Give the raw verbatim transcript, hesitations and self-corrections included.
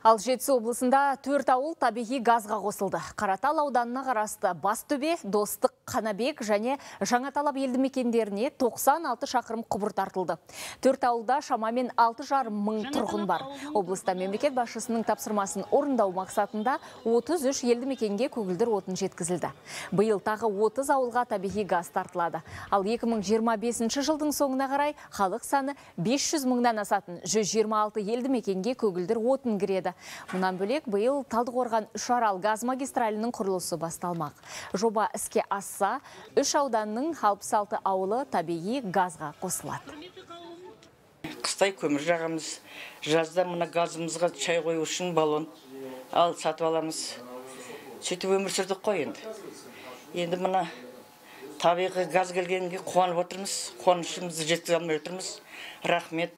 Ал Жетісу облысында төрт ауыл табиғи газға қосылды. Қаратал ауданына қарасты Бастөбе, Достық, Қанабек және Жаңаталап елді мекендеріне тоқсан алты шақырым құбыр тартылды. Төрт ауылда шамамен алты жарым мың тұрғын бар. Облыста мемлекет басшысының тапсырмасын орындау мақсатында отыз үш елді мекенге көгілдір отын жеткізілді. Биыл тағы отыз ауылға табиғи газ тартылады. Ал екі мың жиырма бесінші жылдың соңына қарай халық саны бес жүз мыңнан асатын жүз жиырма алты елді мекенге көгілдір отын кіреді. Мұнан бөлек биыл Талдықорған Үшарал газ магистралінің құрылысы басталмақ. Жоба іске асса, үш ауданның алпыс алты ауылы табиғи газға қосылады. Қыстай көмір жағамыз, жазда мына газымызға чай қою үшін баллон ал сатып аламыз. Сөйтіп өмір сүрдік қой енді. Енді мына табиғи газ келгенге қуанып отырмыз, қуанышымызды жеткізе алмай отырмыз. Рахмет.